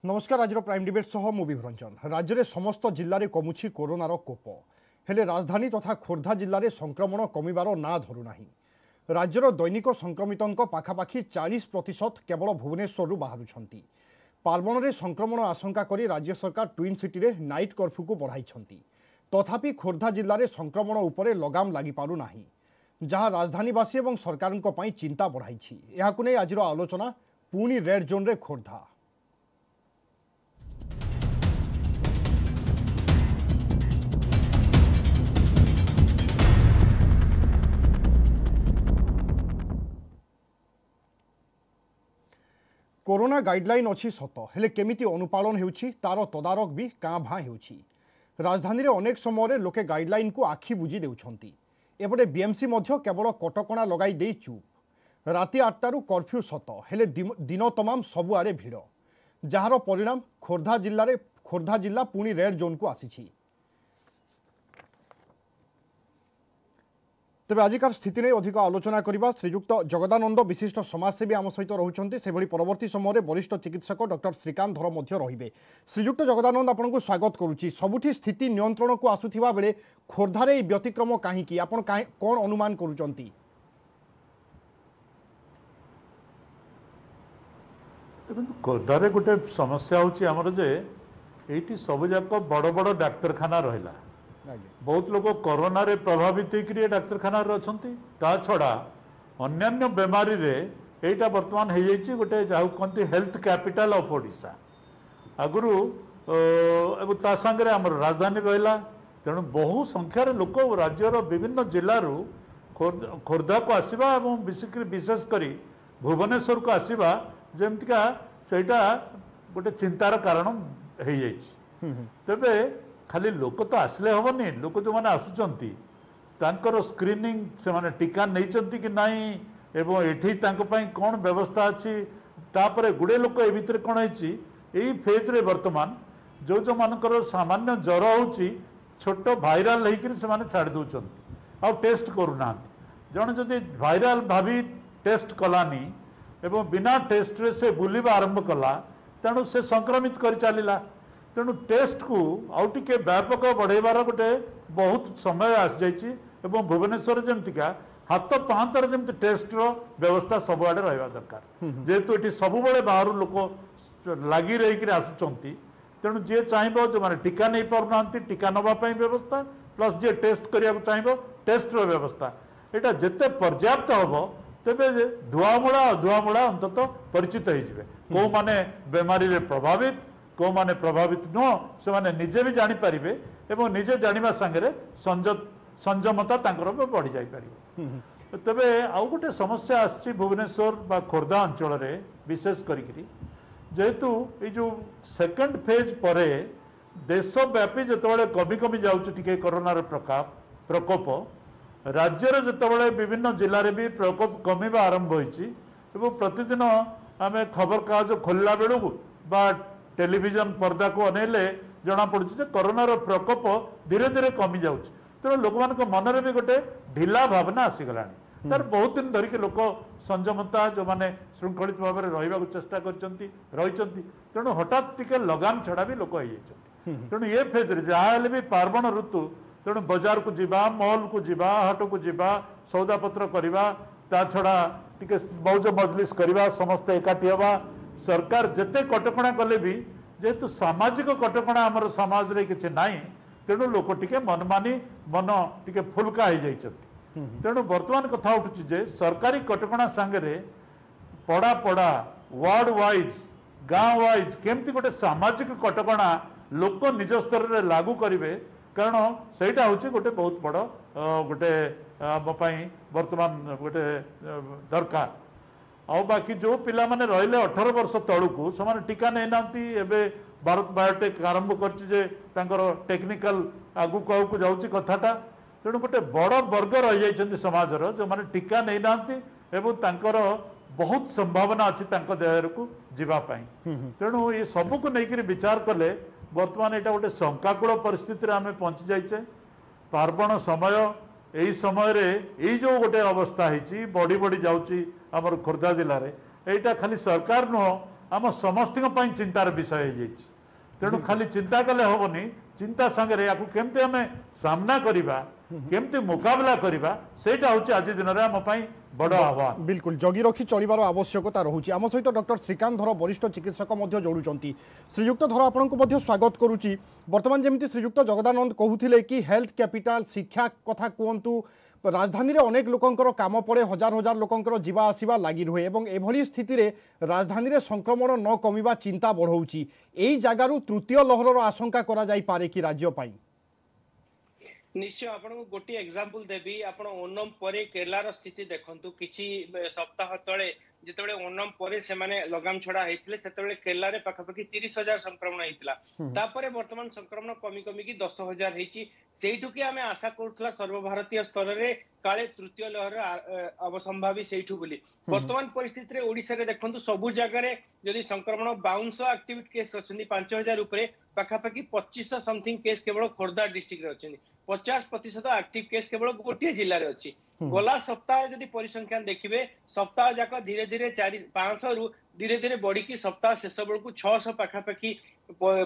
ନମସ୍କାର। ଆଜିର Prime debate ସହ ମୁଁ ବିଭରଞ୍ଜନ। ରାଜ୍ୟରେ ସମସ୍ତ ଜିଲ୍ଲାରେ କମୁଛି କରୋନାର କୋପ, ହେଲେ ରାଜଧାନୀ ତଥା ଖୋର୍ଦ୍ଧା ଜିଲ୍ଲାରେ ସଂକ୍ରମଣ କମିବାର ନାଁ ଧରୁନାହିଁ। ରାଜ୍ୟର ଦୈନିକ ସଂକ୍ରମିତଙ୍କ ପାଖାପାଖି 40% କେବଳ ଭୁବନେଶ୍ୱରରୁ ବାହାରୁଛନ୍ତି। ପାର୍ବଣରେ ସଂକ୍ରମଣ ଆଶଙ୍କା କରି ରାଜ୍ୟ ସରକାର ଟ୍ୱିନ୍ ସିଟିରେ ନାଇଟ୍ କର୍ଫ୍ୟୁକୁ ବଢ଼ାଇଛନ୍ତି। ତଥାପି ଖୋର୍ଦ୍ଧା ଜିଲ୍ଲାରେ ସଂକ୍ରମଣ ଉପରେ ଲଗାମ ଲାଗିପାରୁନାହିଁ, ଯାହା ରାଜଧାନୀବାସୀ ଏବଂ ସରକାରଙ୍କ ପାଇଁ ଚିନ୍ତା ବଢ଼ାଇଛି। ଏହାକୁ ନେଇ ଆଜିର ଆଲୋଚନା। ପୁଣି ରେଡ୍ ଜୋନ୍ରେ ଖୋର୍ଦ୍ଧା। କରୋନା ଗାଇଡଲାଇନ୍ ଅଛି ସତ, ହେଲେ କେମିତି ଅନୁପାଳନ ହେଉଛି ତାର ତଦାରଖ ବି କାଁ ଭାଁ ହେଉଛି। ରାଜଧାନୀରେ ଅନେକ ସମୟରେ ଲୋକେ ଗାଇଡଲାଇନ୍କୁ ଆଖି ବୁଜି ଦେଉଛନ୍ତି। ଏପଟେ ବିଏମ୍ସି ମଧ୍ୟ କେବଳ କଟକଣା ଲଗାଇ ଦେଇ ଚୁପ୍। ରାତି 8ଟାରୁ କର୍ଫ୍ୟୁ ସତ, ହେଲେ ଦିନ ତମାମ ସବୁଆଡ଼େ ଭିଡ଼, ଯାହାର ପରିଣାମ ଖୋର୍ଦ୍ଧା ଜିଲ୍ଲା ପୁଣି ରେଡ୍ ଜୋନ୍କୁ ଆସିଛି। ତେବେ ଆଜିକାର ସ୍ଥିତି ନେଇ ଅଧିକ ଆଲୋଚନା କରିବା। ଶ୍ରୀଯୁକ୍ତ ଜଗଦାନନ୍ଦ ବିଶିଷ୍ଟ ସମାଜସେବୀ ଆମ ସହିତ ରହୁଛନ୍ତି। ସେଭଳି ପରବର୍ତ୍ତୀ ସମୟରେ ବରିଷ୍ଠ ଚିକିତ୍ସକ ଡକ୍ଟର ଶ୍ରୀକାନ୍ତ ଧର ମଧ୍ୟ ରହିବେ। ଶ୍ରୀଯୁକ୍ତ ଜଗଦାନନ୍ଦ, ଆପଣଙ୍କୁ ସ୍ୱାଗତ କରୁଛି। ସବୁଠି ସ୍ଥିତି ନିୟନ୍ତ୍ରଣକୁ ଆସୁଥିବା ବେଳେ ଖୋର୍ଦ୍ଧାରେ ଏହି ବ୍ୟତିକ୍ରମ କାହିଁକି? ଆପଣ କ'ଣ ଅନୁମାନ କରୁଛନ୍ତି? ଦେଖନ୍ତୁ, ଖୋର୍ଦ୍ଧାରେ ଗୋଟେ ସମସ୍ୟା ହେଉଛି ଆମର ଯେ ଏଇଠି ସବୁଯାକ ବଡ଼ ବଡ଼ ଡାକ୍ତରଖାନା ରହିଲା। ବହୁତ ଲୋକ କରୋନାରେ ପ୍ରଭାବିତ ହେଇକରି ଏ ଡାକ୍ତରଖାନାରେ ଅଛନ୍ତି। ତା ଛଡ଼ା ଅନ୍ୟାନ୍ୟ ବେମାରୀରେ ଏଇଟା ବର୍ତ୍ତମାନ ହେଇଯାଇଛି ଗୋଟେ ଯାହାକୁ କହନ୍ତି ହେଲ୍ଥ କ୍ୟାପିଟାଲ ଅଫ୍ ଓଡ଼ିଶା ଆଗରୁ, ଏବଂ ତା ସାଙ୍ଗରେ ଆମର ରାଜଧାନୀ ରହିଲା। ତେଣୁ ବହୁ ସଂଖ୍ୟାରେ ଲୋକ ରାଜ୍ୟର ବିଭିନ୍ନ ଜିଲ୍ଲାରୁ ଖୋର୍ଦ୍ଧାକୁ ଆସିବା ଏବଂ ବିଶେଷ କରି ଭୁବନେଶ୍ୱରକୁ ଆସିବା, ଯେମିତିକା ସେଇଟା ଗୋଟେ ଚିନ୍ତାର କାରଣ ହେଇଯାଇଛି। ତେବେ ଖାଲି ଲୋକ ତ ଆସିଲେ ହେବନି। ଲୋକ ଯେଉଁମାନେ ଆସୁଛନ୍ତି ତାଙ୍କର ସ୍କ୍ରିନିଂ, ସେମାନେ ଟୀକା ନେଇଛନ୍ତି କି ନାହିଁ ଏବଂ ଏଠି ତାଙ୍କ ପାଇଁ କ'ଣ ବ୍ୟବସ୍ଥା ଅଛି। ତାପରେ ଗୁଡ଼େ ଲୋକ ଏ ଭିତରେ କ'ଣ ହେଇଛି, ଏଇ ଫେଜ୍ରେ ବର୍ତ୍ତମାନ ଯେଉଁ ଯେଉଁମାନଙ୍କର ସାମାନ୍ୟ ଜ୍ୱର ହେଉଛି, ଛୋଟ ଭାଇରାଲ ହେଇକରି ସେମାନେ ଛାଡ଼ି ଦେଉଛନ୍ତି, ଆଉ ଟେଷ୍ଟ କରୁନାହାନ୍ତି। ଜଣେ ଯଦି ଭାଇରାଲ ଭାବି ଟେଷ୍ଟ କଲାନି ଏବଂ ବିନା ଟେଷ୍ଟରେ ସେ ବୁଲିବା ଆରମ୍ଭ କଲା, ତେଣୁ ସେ ସଂକ୍ରମିତ କରି ଚାଲିଲା। ତେଣୁ ଟେଷ୍ଟକୁ ଆଉ ଟିକେ ବ୍ୟାପକ ବଢ଼େଇବାର ଗୋଟେ ବହୁତ ସମୟ ଆସିଯାଇଛି ଏବଂ ଭୁବନେଶ୍ୱର ଯେମିତିକା ହାତ ପାହାନ୍ତାରେ ଯେମିତି ଟେଷ୍ଟର ବ୍ୟବସ୍ଥା ସବୁଆଡ଼େ ରହିବା ଦରକାର। ଯେହେତୁ ଏଠି ସବୁବେଳେ ବାହାରୁ ଲୋକ ଲାଗି ରହିକିରି ଆସୁଛନ୍ତି, ତେଣୁ ଯିଏ ଚାହିଁବ, ଯେଉଁମାନେ ଟୀକା ନେଇପାରୁନାହାନ୍ତି ଟୀକା ନେବା ପାଇଁ ବ୍ୟବସ୍ଥା, ପ୍ଲସ୍ ଯିଏ ଟେଷ୍ଟ କରିବାକୁ ଚାହିଁବ ଟେଷ୍ଟର ବ୍ୟବସ୍ଥା, ଏଇଟା ଯେତେ ପର୍ଯ୍ୟାପ୍ତ ହେବ ତେବେ ଧୁଆମୂଳା ଅଧୁଆମୂଳା ଅନ୍ତତଃ ପରିଚିତ ହେଇଯିବେ। କେଉଁମାନେ ବେମାରୀରେ ପ୍ରଭାବିତ, କେଉଁମାନେ ପ୍ରଭାବିତ ନୁହଁ, ସେମାନେ ନିଜେ ବି ଜାଣିପାରିବେ ଏବଂ ନିଜେ ଜାଣିବା ସାଙ୍ଗରେ ସଂଯମତା ତାଙ୍କର ବଢ଼ି ଯାଇପାରିବ। ତେବେ ଆଉ ଗୋଟେ ସମସ୍ୟା ଆସିଛି ଭୁବନେଶ୍ୱର ବା ଖୋର୍ଦ୍ଧା ଅଞ୍ଚଳରେ ବିଶେଷ କରିକିରି, ଯେହେତୁ ଏଇ ଯେଉଁ ସେକେଣ୍ଡ ଫେଜ୍ ପରେ ଦେଶବ୍ୟାପୀ ଯେତେବେଳେ କମି କମି ଯାଉଛି ଟିକେ କରୋନାର ପ୍ରକୋପ, ରାଜ୍ୟରେ ଯେତେବେଳେ ବିଭିନ୍ନ ଜିଲ୍ଲାରେ ବି ପ୍ରକୋପ କମିବା ଆରମ୍ଭ ହୋଇଛି ଏବଂ ପ୍ରତିଦିନ ଆମେ ଖବରକାଗଜ ଖୋଲିଲା ବେଳକୁ ବା ଟେଲିଭିଜନ ପର୍ଦ୍ଦାକୁ ଅନେଇଲେ ଜଣାପଡ଼ୁଛି ଯେ କରୋନାର ପ୍ରକୋପ ଧୀରେ ଧୀରେ କମିଯାଉଛି। ତେଣୁ ଲୋକମାନଙ୍କ ମନରେ ବି ଗୋଟେ ଢିଲା ଭାବନା ଆସିଗଲାଣି। ତାର ବହୁତ ଦିନ ଧରିକି ଲୋକ ସଂଯମତା, ଯେଉଁମାନେ ଶୃଙ୍ଖଳିତ ଭାବରେ ରହିବାକୁ ଚେଷ୍ଟା କରିଛନ୍ତି, ରହିଛନ୍ତି। ତେଣୁ ହଠାତ୍ ଟିକେ ଲଗାମ ଛଡ଼ା ବି ଲୋକ ହେଇଯାଇଛନ୍ତି। ତେଣୁ ଏ ଫେଜ୍ରେ ଯାହା ହେଲେ ବି ପାର୍ବଣ ଋତୁ, ତେଣୁ ବଜାରକୁ ଯିବା, ମଲ୍କୁ ଯିବା, ହାଟକୁ ଯିବା, ସଉଦାପତ୍ର କରିବା, ତା ଛଡ଼ା ଟିକେ ମୌଜ ମଜଲିସ କରିବା, ସମସ୍ତେ ଏକାଠି ହେବା। ସରକାର ଯେତେ କଟକଣା କଲେ ବି ଯେହେତୁ ସାମାଜିକ କଟକଣା ଆମର ସମାଜରେ କିଛି ନାହିଁ, ତେଣୁ ଲୋକ ଟିକେ ମନମାନି, ମନ ଟିକେ ଫୁଲକା ହେଇଯାଇଛନ୍ତି। ତେଣୁ ବର୍ତ୍ତମାନ କଥା ଉଠୁଛି ଯେ ସରକାରୀ କଟକଣା ସାଙ୍ଗରେ ପଡ଼ା ପଡ଼ା, ୱାର୍ଡ ୱାଇଜ୍, ଗାଁ ୱାଇଜ୍ କେମିତି ଗୋଟେ ସାମାଜିକ କଟକଣା ଲୋକ ନିଜ ସ୍ତରରେ ଲାଗୁ କରିବେ, କାରଣ ସେଇଟା ହେଉଛି ଗୋଟେ ବହୁତ ବଡ଼ ଗୋଟେ ଆମ ପାଇଁ ବର୍ତ୍ତମାନ ଗୋଟେ ଦରକାର। ଆଉ ବାକି ଯେଉଁ ପିଲାମାନେ ରହିଲେ 18 ବର୍ଷ ତଳକୁ, ସେମାନେ ଟୀକା ନେଇନାହାନ୍ତି। ଏବେ ଭାରତ ବାୟୋଟେକ୍ ଆରମ୍ଭ କରିଛି ଯେ ତାଙ୍କର ଟେକ୍ନିକାଲ ଆଗକୁ ଆଗକୁ ଯାଉଛି କଥାଟା। ତେଣୁ ଗୋଟେ ବଡ଼ ବର୍ଗ ରହିଯାଇଛନ୍ତି ସମାଜର ଯେଉଁମାନେ ଟୀକା ନେଇନାହାନ୍ତି ଏବଂ ତାଙ୍କର ବହୁତ ସମ୍ଭାବନା ଅଛି ତାଙ୍କ ଦେହକୁ ଯିବା ପାଇଁ। ତେଣୁ ଏ ସବୁକୁ ନେଇକରି ବିଚାର କଲେ ବର୍ତ୍ତମାନ ଏଇଟା ଗୋଟେ ଶଙ୍କାକୁଳ ପରିସ୍ଥିତିରେ ଆମେ ପହଞ୍ଚି ଯାଇଛେ। ପାର୍ବଣ ସମୟ, ଏଇ ସମୟରେ ଏଇ ଯେଉଁ ଗୋଟେ ଅବସ୍ଥା ହେଇଛି, ବଢ଼ି ବଢ଼ି ଯାଉଛି ଆମର ଖୋର୍ଦ୍ଧା ଜିଲ୍ଲାରେ, ଏଇଟା ଖାଲି ସରକାର ନୁହଁ, ଆମ ସମସ୍ତଙ୍କ ପାଇଁ ଚିନ୍ତାର ବିଷୟ ହେଇଯାଇଛି। ତେଣୁ ଖାଲି ଚିନ୍ତା କଲେ ହେବନି, ଚିନ୍ତା ସାଙ୍ଗରେ ୟାକୁ କେମିତି ଆମେ ସାମ୍ନା କରିବା, କେମିତି ମୁକାବିଲା କରିବା, ସେଇଟା ହେଉଛି ଆଜି ଦିନରେ ଆମ ପାଇଁ ବଡ଼ ଆହ୍ୱାନ। ବିଲକୁଲ ଜଗି ରଖି ଚଳିବାର ଆବଶ୍ୟକତା ରହୁଛି। ଆମ ସହିତ ଡକ୍ଟର ଶ୍ରୀକାନ୍ତ ଧର ବରିଷ୍ଠ ଚିକିତ୍ସକ ମଧ୍ୟ ଯୋଡ଼ୁଛନ୍ତି। ଶ୍ରୀଯୁକ୍ତ ଧର, ଆପଣଙ୍କୁ ମଧ୍ୟ ସ୍ୱାଗତ କରୁଛି। ବର୍ତ୍ତମାନ ଯେମିତି ଶ୍ରୀଯୁକ୍ତ ଜଗଦାନନ୍ଦ କହୁଥିଲେ କି ହେଲ୍ଥ କ୍ୟାପିଟାଲ, ଶିକ୍ଷା କଥା କୁହନ୍ତୁ, ରାଜଧାନୀରେ ଅନେକ ଲୋକଙ୍କର କାମ ପଡ଼େ, ହଜାର ହଜାର ଲୋକଙ୍କର ଯିବା ଆସିବା ଲାଗି ରୁହେ ଏବଂ ଏଭଳି ସ୍ଥିତିରେ ରାଜଧାନୀରେ ସଂକ୍ରମଣ ନ କମିବା ଚିନ୍ତା ବଢ଼ଉଛି। ଏଇ ଜାଗାରୁ ତୃତୀୟ ଲହରର ଆଶଙ୍କା କରାଯାଇପାରେ କି ରାଜ୍ୟ ପାଇଁ? ନିଶ୍ଚୟ ଆପଣଙ୍କୁ ଗୋଟିଏ ଏକ୍ସାମ୍ପଲ ଦେବି। ଆପଣ ଓନମ ପରେ କେରଳାର ସ୍ଥିତି ଦେଖନ୍ତୁ। କିଛି ସପ୍ତାହ ତଳେ ଯେତେବେଳେ ଓନମ ପରେ ସେମାନେ ଲଗାମ ଛଡା ହେଇଥିଲେ, ସେତେବେଳେ କେରଳାରେ ପାଖାପାଖି 30,000 ସଂକ୍ରମଣ ହେଇଥିଲା। ତାପରେ ବର୍ତ୍ତମାନ ସଂକ୍ରମଣ କମି କମିକି 10,000 ହେଇଛି। ସେଇଠୁ କି ଆମେ ଆଶା କରୁଥିଲା ସର୍ବଭାରତୀୟ ସ୍ତରରେ କାଳେ ତୃତୀୟ ଲହର ଅବସମ୍ଭାବୀ ସେଇଠୁ ବୋଲି। ବର୍ତ୍ତମାନ ପରିସ୍ଥିତିରେ ଓଡିଶାରେ ଦେଖନ୍ତୁ, ସବୁ ଜାଗାରେ ଯଦି ସଂକ୍ରମଣ 52 ଆକ୍ଟିଭ କେସ୍ ଅଛନ୍ତି 5,000 ଉପରେ, ପାଖାପାଖି 2,500 ସମଥିଙ୍ଗ କେସ୍ କେବଳ ଖୋର୍ଦ୍ଧା ଡିଷ୍ଟ୍ରିକ୍ଟରେ ଅଛନ୍ତି। 50% ଆକ୍ଟିଭ କେସ୍ କେବଳ ଗୋଟିଏ ଜିଲ୍ଲାରେ ଅଛି। ଗଲା ସପ୍ତାହରେ ଯଦି ପରିସଂଖ୍ୟାନ ଦେଖିବେ, ସପ୍ତାହ ଯାକ ଧୀରେ ଧୀରେ 500ରୁ ଧୀରେ ଧୀରେ ବଢିକି ସପ୍ତାହ ଶେଷ ବେଳକୁ 600 ପାଖାପାଖି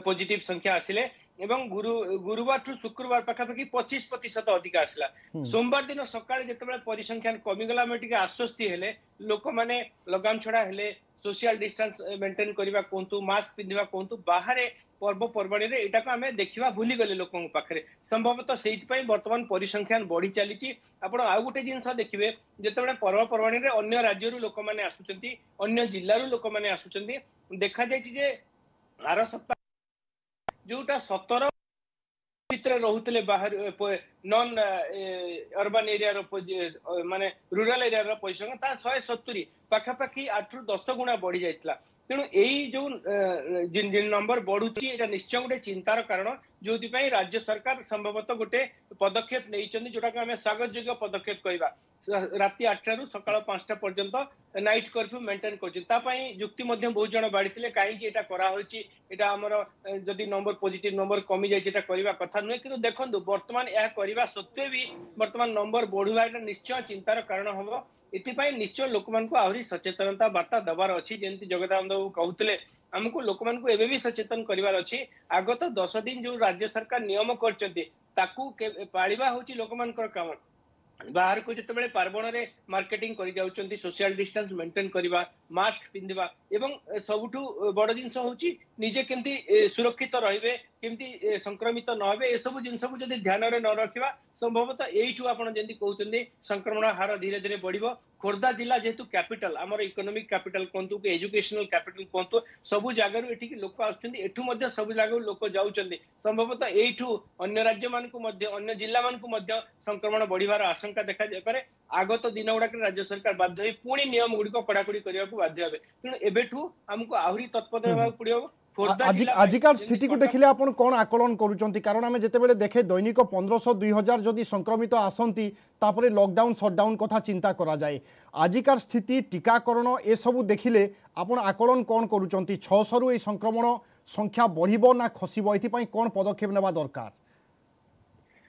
ପଜିଟିଭ ସଂଖ୍ୟା ଆସିଲେ ଏବଂ ଗୁରୁବାରଠୁ ଶୁକ୍ରବାର ପାଖାପାଖି 25% ଅଧିକା ଆସିଲା। ସୋମବାର ଦିନ ସକାଳେ ଯେତେବେଳେ ପରିସଂଖ୍ୟାନ କମିଗଲା, ଆମେ ଟିକେ ଆଶ୍ୱସ୍ତି ହେଲେ। ଲୋକମାନେ ଲଗାମ ଛଡା ହେଲେ, ସୋସିଆଲ ଡିଷ୍ଟାନ୍ସ ମେଣ୍ଟେନ କରିବା କୁହନ୍ତୁ, ମାସ୍କ ପିନ୍ଧିବା କୁହନ୍ତୁ, ବାହାରେ ପର୍ବପର୍ବାଣୀରେ ଏଇଟାକୁ ଆମେ ଦେଖିବା ଭୁଲିଗଲେ ଲୋକଙ୍କ ପାଖରେ। ସମ୍ଭବତଃ ସେଇଥିପାଇଁ ବର୍ତ୍ତମାନ ପରିସଂଖ୍ୟାନ ବଢି ଚାଲିଛି। ଆପଣ ଆଉ ଗୋଟେ ଜିନିଷ ଦେଖିବେ, ଯେତେବେଳେ ପର୍ବପର୍ବାଣୀରେ ଅନ୍ୟ ରାଜ୍ୟରୁ ଲୋକମାନେ ଆସୁଛନ୍ତି, ଅନ୍ୟ ଜିଲ୍ଲାରୁ ଲୋକମାନେ ଆସୁଛନ୍ତି, ଦେଖାଯାଇଛି ଯେ ଆର ସପ୍ତାହ ଯୋଉଟା 17 ଭିତରେ ରହୁଥିଲେ ବାହାରୁ ନନ୍ ଅର୍ବାନ ଏରିଆର, ମାନେ ରୁରାଲ ଏରିଆର ପରିସଂଖ୍ୟା, ତା 170 ପାଖାପାଖି 8ରୁ 10 ଗୁଣା ବଢି ଯାଇଥିଲା। ତେଣୁ ଏଇ ଯୋଉ ନମ୍ବର ବଢୁଛି, ଏଇଟା ନିଶ୍ଚୟ ଗୋଟେ ଚିନ୍ତାର କାରଣ, ଯୋଉଥିପାଇଁ ରାଜ୍ୟ ସରକାର ସମ୍ଭବତଃ ଗୋଟେ ପଦକ୍ଷେପ ନେଇଛନ୍ତି, ଯୋଉଟାକୁ ଆମେ ସ୍ୱାଗତ ଯୋଗ୍ୟ ପଦକ୍ଷେପ କହିବା। ରାତି 8ଟାରୁ ସକାଳ 5ଟା ପର୍ଯ୍ୟନ୍ତ ନାଇଟ୍ କର୍ଫ୍ୟୁ ମେଣ୍ଟେନ କରୁଛନ୍ତି। ତା ପାଇଁ ଯୁକ୍ତି ମଧ୍ୟ ବହୁତ ଜଣ ବାଢିଥିଲେ, କାହିଁକି ଏଇଟା କରାହଉଛି, ଏଇଟା ଆମର ଯଦି ନମ୍ବର ପଜିଟିଭ ନମ୍ବର କମି ଯାଇଛି ଏଇଟା କରିବା କଥା ନୁହେଁ। କିନ୍ତୁ ଦେଖନ୍ତୁ, ବର୍ତ୍ତମାନ ଏହା କରିବା ସତ୍ତ୍ୱେ ବି ବର୍ତ୍ତମାନ ନମ୍ବର ବଢିବା ଏଇଟା ନିଶ୍ଚୟ ଚିନ୍ତାର କାରଣ ହବ। ଏଥିପାଇଁ ନିଶ୍ଚୟ ଲୋକମାନଙ୍କୁ ଆହୁରି ସଚେତନତା ବାର୍ତ୍ତା ଦେବାର ଅଛି। ଯେମିତି ଜଗଦାନନ୍ଦ ବାବୁ କହୁଥିଲେ, ଆମକୁ ଲୋକମାନଙ୍କୁ ଏବେ ବି ସଚେତନ କରିବାର ଅଛି। ଆଗତ 10 ଦିନ ଯୋଉ ରାଜ୍ୟ ସରକାର ନିୟମ କରିଛନ୍ତି ତାକୁ ପାଳିବା ହଉଛି ଲୋକମାନଙ୍କର କାମ। ବାହାରକୁ ଯେତେବେଳେ ପାର୍ବଣରେ ମାର୍କେଟିଂ କରି ଯାଉଛନ୍ତି, ସୋସିଆଲ ଡିଷ୍ଟାନ୍ସ ମେଣ୍ଟେନ କରିବା, ମାସ୍କ ପିନ୍ଧିବା ଏବଂ ସବୁଠୁ ବଡ ଜିନିଷ ହଉଛି ନିଜେ କେମିତି ସୁରକ୍ଷିତ ରହିବେ, କେମିତି ସଂକ୍ରମିତ ନ ହେବେ, ଏସବୁ ଜିନିଷକୁ ଯଦି ଧ୍ୟାନରେ ନ ରଖିବା, ସମ୍ଭବତଃ ଏଇଠୁ ଆପଣ ଯେମିତି କହୁଛନ୍ତି ସଂକ୍ରମଣ ହାର ଧୀରେ ଧୀରେ ବଢିବ। ଖୋର୍ଦ୍ଧା ଜିଲ୍ଲା ଯେହେତୁ କ୍ୟାପିଟାଲ, ଆମର ଇକୋନୋମିକ କ୍ୟାପିଟାଲ କୁହନ୍ତୁ କି ଏଜୁକେସନାଲ କ୍ୟାପିଟାଲ କୁହନ୍ତୁ, ସବୁ ଜାଗାରୁ ଏଠିକି ଲୋକ ଆସୁଛନ୍ତି, ଏଠୁ ମଧ୍ୟ ସବୁ ଜାଗାରୁ ଲୋକ ଯାଉଛନ୍ତି। ସମ୍ଭବତଃ ଏଇଠୁ ଅନ୍ୟ ରାଜ୍ୟମାନଙ୍କୁ ମଧ୍ୟ, ଅନ୍ୟ ଜିଲ୍ଲାମାନଙ୍କୁ ମଧ୍ୟ ସଂକ୍ରମଣ ବଢିବାର ଆଶଙ୍କା ଦେଖାଯାଇପାରେ। ଆଗତ ଦିନ ଗୁଡାକରେ ରାଜ୍ୟ ସରକାର ବାଧ୍ୟ ହୋଇ ପୁଣି ନିୟମ ଗୁଡିକ କଡାକଡି କରିବାକୁ ବାଧ୍ୟ ହେବେ। ତେଣୁ ଏବେଠୁ ଆମକୁ ଆହୁରି ତତ୍ପର ହେବାକୁ ପଡିବ। ଆଜିକାର ସ୍ଥିତିକୁ ଦେଖିଲେ ଆପଣ କ'ଣ ଆକଳନ କରୁଛନ୍ତି? କାରଣ ଆମେ ଯେତେବେଳେ ଦେଖେ ଦୈନିକ 1500 2000 ଯଦି ସଂକ୍ରମିତ ଆସନ୍ତି, ତାପରେ ଲକଡାଉନ ସଟଡାଉନ କଥା ଚିନ୍ତା କରାଯାଏ। ଆଜିକାର ସ୍ଥିତି, ଟୀକାକରଣ ଏସବୁ ଦେଖିଲେ ଆପଣ ଆକଳନ କ'ଣ କରୁଛନ୍ତି? 600ରୁ ଏଇ ସଂକ୍ରମଣ ସଂଖ୍ୟା ବଢ଼ିବ ନା ଖସିବ? ଏଥିପାଇଁ କ'ଣ ପଦକ୍ଷେପ ନେବା ଦରକାର?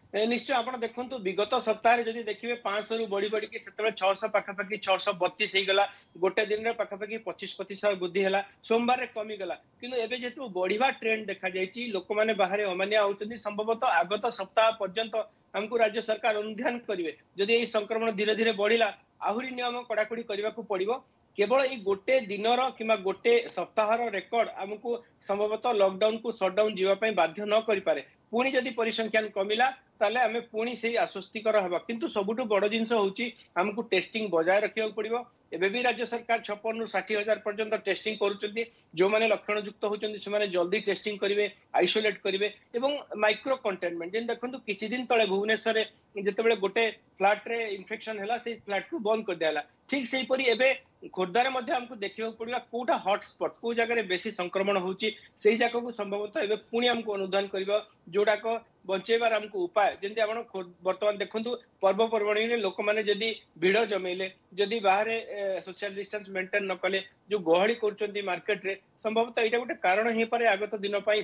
ନିଶ୍ଚୟ ଆପଣ ଦେଖନ୍ତୁ, ବିଗତ ସପ୍ତାହରେ ଯଦି ଦେଖିବେ 500ରୁ ବଢି ବଢିକି ସେତେବେଳେ 600 ପାଖାପାଖି 632 ହେଇଗଲା। ଗୋଟେ ଦିନରେ ପାଖାପାଖି 25% ବୃଦ୍ଧି ହେଲା। ସୋମବାରରେ କମିଗଲା, କିନ୍ତୁ ଏବେ ଯେହେତୁ ବଢିବା ଟ୍ରେଣ୍ଡ ଦେଖାଯାଇଛି, ଲୋକମାନେ ବାହାରେ ଅମାନିଆ ହଉଛନ୍ତି, ସମ୍ଭବତଃ ଆଗତ ସପ୍ତାହ ପର୍ଯ୍ୟନ୍ତ ଆମକୁ ରାଜ୍ୟ ସରକାର ଅନୁଧ୍ୟାନ କରିବେ। ଯଦି ଏଇ ସଂକ୍ରମଣ ଧୀରେ ଧୀରେ ବଢିଲା, ଆହୁରି ନିୟମ କଡାକଡି କରିବାକୁ ପଡିବ। କେବଳ ଏଇ ଗୋଟେ ଦିନର କିମ୍ବା ଗୋଟେ ସପ୍ତାହର ରେକର୍ଡ ଆମକୁ ସମ୍ଭବତଃ ଲକଡାଉନକୁ ସଟଡାଉନ ଯିବା ପାଇଁ ବାଧ୍ୟ ନ କରିପାରେ। ପୁଣି ଯଦି ପରିସଂଖ୍ୟାନ କମିଲା, ତାହେଲେ ଆମେ ପୁଣି ସେଇ ଆଶ୍ୱସ୍ତିକର ହେବା। କିନ୍ତୁ ସବୁଠୁ ବଡ ଜିନିଷ ହଉଛି ଆମକୁ ଟେଷ୍ଟିଂ ବଜାୟ ରଖିବାକୁ ପଡିବ। ଏବେ ବି ରାଜ୍ୟ ସରକାର 56ରୁ 60,000 ପର୍ଯ୍ୟନ୍ତ ଟେଷ୍ଟିଂ କରୁଛନ୍ତି। ଯୋଉମାନେ ଲକ୍ଷଣ ଯୁକ୍ତ ହଉଛନ୍ତି ସେମାନେ ଜଲ୍ଦି ଟେଷ୍ଟିଂ କରିବେ, ଆଇସୋଲେଟ କରିବେ ଏବଂ ମାଇକ୍ରୋ କଣ୍ଟେନମେଣ୍ଟ। ଯେମିତି ଦେଖନ୍ତୁ, କିଛି ଦିନ ତଳେ ଭୁବନେଶ୍ୱରରେ ଯେତେବେଳେ ଗୋଟେ ଫ୍ଲାଟରେ ଇନଫେକ୍ସନ ହେଲା, ସେଇ ଫ୍ଲାଟକୁ ବନ୍ଦ କରିଦିଆହେଲା। ଠିକ ସେଇପରି ଏବେ ଖୋର୍ଦ୍ଧାରେ ମଧ୍ୟ ଆମକୁ ଦେଖିବାକୁ ପଡିବ କୋଉଟା ହଟସ୍ପଟ, କୋଉ ଜାଗାରେ ବେଶୀ ସଂକ୍ରମଣ ହଉଛି, ସେଇ ଜାଗାକୁ ସମ୍ଭବତଃ ଏବେ ପୁଣି ଆମକୁ ଅନୁଧ୍ୟାନ କରିବା, ଯୋଉଟାକ ବଞ୍ଚେଇବାର ଆମକୁ ଉପାୟ, ଯେମିତି ଆପଣ ବର୍ତ୍ତମାନ ଦେଖନ୍ତୁ ପର୍ବପର୍ବାଣୀରେ ଲୋକମାନେ ଯଦି ଭିଡ଼ ଜମେଇଲେ, ଯଦି ବାହାରେ ସୋସିଆଲ ଡିଷ୍ଟାନ୍ସ ମେଣ୍ଟେନ ନ କଲେ, ଯୋଉ ଗହଳି କରୁଛନ୍ତି ମାର୍କେଟରେ, ସମ୍ଭବତଃ ଏଇଟା ଗୋଟେ କାରଣ ହେଇପାରେ ଆଗତ ଦିନ ପାଇଁ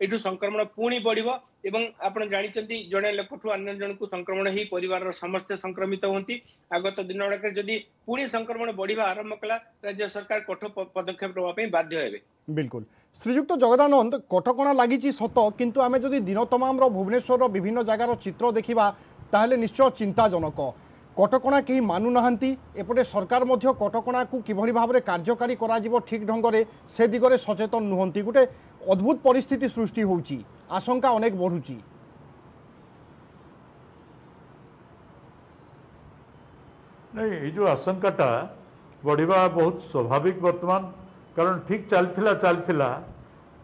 ଏଇଠୁ ସଂକ୍ରମଣ ପୁଣି ବଢିବ। ଏବଂ ଆପଣ ଜାଣିଛନ୍ତି ଜଣେ ଲୋକଠୁ ଅନ୍ୟ ଜଣକୁ ସଂକ୍ରମଣ ହେଇ ପରିବାରର ସମସ୍ତେ ସଂକ୍ରମିତ ହୁଅନ୍ତି। ଆଗତ ଦିନ ଗୁଡାକରେ ଯଦି ପୁଣି ସଂକ୍ରମଣ ବଢିବା ଆରମ୍ଭ କଲା, ରାଜ୍ୟ ସରକାର କଠୋର ପଦକ୍ଷେପ ନେବା ପାଇଁ ବାଧ୍ୟ ହେବେ। ବିଲକୁଲ ଶ୍ରୀଯୁକ୍ତ ଜଗଦାନନ୍ଦ, କଟକଣା ଲାଗିଛି ସତ, କିନ୍ତୁ ଆମେ ଯଦି ଦିନ ତମାମର ଭୁବନେଶ୍ୱରର ବିଭିନ୍ନ ଜାଗାର ଚିତ୍ର ଦେଖିବା ତାହେଲେ ନିଶ୍ଚୟ ଚିନ୍ତାଜନକ। କଟକଣା କେହି ମାନୁନାହାନ୍ତି, ଏପଟେ ସରକାର ମଧ୍ୟ କଟକଣାକୁ କିଭଳି ଭାବରେ କାର୍ଯ୍ୟକାରୀ କରାଯିବ ଠିକ୍ ଢଙ୍ଗରେ ସେ ଦିଗରେ ସଚେତନ ନୁହନ୍ତି। ଗୋଟେ ଅଦ୍ଭୁତ ପରିସ୍ଥିତି ସୃଷ୍ଟି ହେଉଛି, ଆଶଙ୍କା ଅନେକ ବଢ଼ୁଛି। ନାଇଁ, ଏଇ ଯେଉଁ ଆଶଙ୍କାଟା ବଢ଼ିବା ବହୁତ ସ୍ୱାଭାବିକ ବର୍ତ୍ତମାନ, କାରଣ ଠିକ୍ ଚାଲିଥିଲା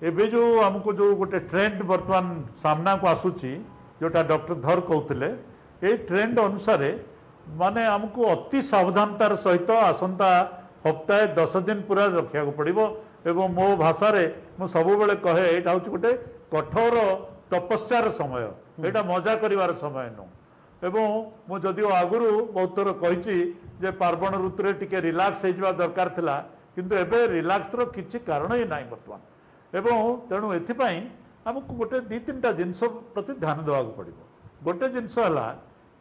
ଏବେ ଯେଉଁ ଆମକୁ ଯେଉଁ ଗୋଟେ ଟ୍ରେଣ୍ଡ ବର୍ତ୍ତମାନ ସାମ୍ନାକୁ ଆସୁଛି, ଯେଉଁଟା ଡକ୍ଟର ଧର କହୁଥିଲେ, ଏଇ ଟ୍ରେଣ୍ଡ ଅନୁସାରେ ମାନେ ଆମକୁ ଅତି ସାବଧାନତାର ସହିତ ଆସନ୍ତା ହପ୍ତାହେ 10 ଦିନ ପୁରା ରଖିବାକୁ ପଡ଼ିବ। ଏବଂ ମୋ ଭାଷାରେ ମୁଁ ସବୁବେଳେ କହେ, ଏଇଟା ହେଉଛି ଗୋଟେ କଠୋର ତପସ୍ୟାର ସମୟ, ଏଇଟା ମଜା କରିବାର ସମୟ ନୁହଁ। ଏବଂ ମୁଁ ଯଦିଓ ଆଗରୁ ବହୁତ ଥର କହିଛି ଯେ ପାର୍ବଣ ଋତୁରେ ଟିକେ ରିଲାକ୍ସ ହେଇଯିବା ଦରକାର ଥିଲା, କିନ୍ତୁ ଏବେ ରିଲାକ୍ସର କିଛି କାରଣ ହିଁ ନାହିଁ ବର୍ତ୍ତମାନ। ଏବଂ ତେଣୁ ଏଥିପାଇଁ ଆମକୁ ଗୋଟେ 2 3ଟା ଜିନିଷ ପ୍ରତି ଧ୍ୟାନ ଦେବାକୁ ପଡ଼ିବ। ଗୋଟେ ଜିନିଷ ହେଲା,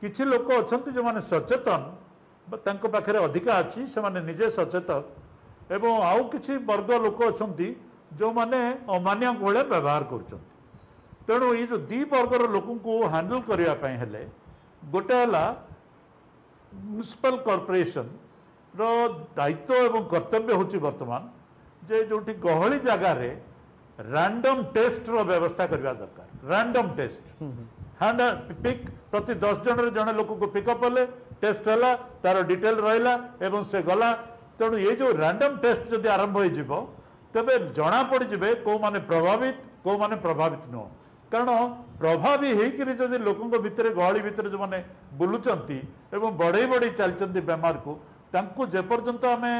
କିଛି ଲୋକ ଅଛନ୍ତି ଯେଉଁମାନେ ସଚେତନ, ତାଙ୍କ ପାଖରେ ଅଧିକା ଅଛି, ସେମାନେ ନିଜେ ସଚେତନ, ଏବଂ ଆଉ କିଛି ବର୍ଗ ଲୋକ ଅଛନ୍ତି ଯେଉଁମାନେ ଅମାନିଆଙ୍କ ଭଳିଆ ବ୍ୟବହାର କରୁଛନ୍ତି। ତେଣୁ ଏଇ ଯେଉଁ ଦୁଇ ବର୍ଗର ଲୋକଙ୍କୁ ହ୍ୟାଣ୍ଡେଲ୍ କରିବା ପାଇଁ ହେଲେ, ଗୋଟେ ହେଲା ମ୍ୟୁନିସିପାଲ କର୍ପୋରେସନର ଦାୟିତ୍ୱ ଏବଂ କର୍ତ୍ତବ୍ୟ ହେଉଛି ବର୍ତ୍ତମାନ ଯେ ଯେଉଁଠି ଗହଳି ଜାଗାରେ ରାଣ୍ଡମ୍ ଟେଷ୍ଟର ବ୍ୟବସ୍ଥା କରିବା ଦରକାର। ରାଣ୍ଡମ୍ ଟେଷ୍ଟ, ହ୍ୟାଣ୍ଡ ପିକ୍, ପ୍ରତି 10 ଜଣରେ ଜଣେ ଲୋକକୁ ପିକଅପ୍ କଲେ, ଟେଷ୍ଟ ହେଲା, ତାର ଡିଟେଲ ରହିଲା ଏବଂ ସେ ଗଲା। ତେଣୁ ଏଇ ଯେଉଁ ରାଣ୍ଡମ୍ ଟେଷ୍ଟ ଯଦି ଆରମ୍ଭ ହେଇଯିବ, ତେବେ ଜଣାପଡ଼ିଯିବେ କେଉଁମାନେ ପ୍ରଭାବିତ, କେଉଁମାନେ ପ୍ରଭାବିତ ନୁହଁ। କାରଣ ପ୍ରଭାବୀ ହେଇକିରି ଯଦି ଲୋକଙ୍କ ଭିତରେ, ଗହଳି ଭିତରେ ଯେଉଁମାନେ ବୁଲୁଛନ୍ତି ଏବଂ ବଢ଼େଇ ବଢ଼େଇ ଚାଲିଛନ୍ତି ବେମାରକୁ, ତାଙ୍କୁ ଯେପର୍ଯ୍ୟନ୍ତ ଆମେ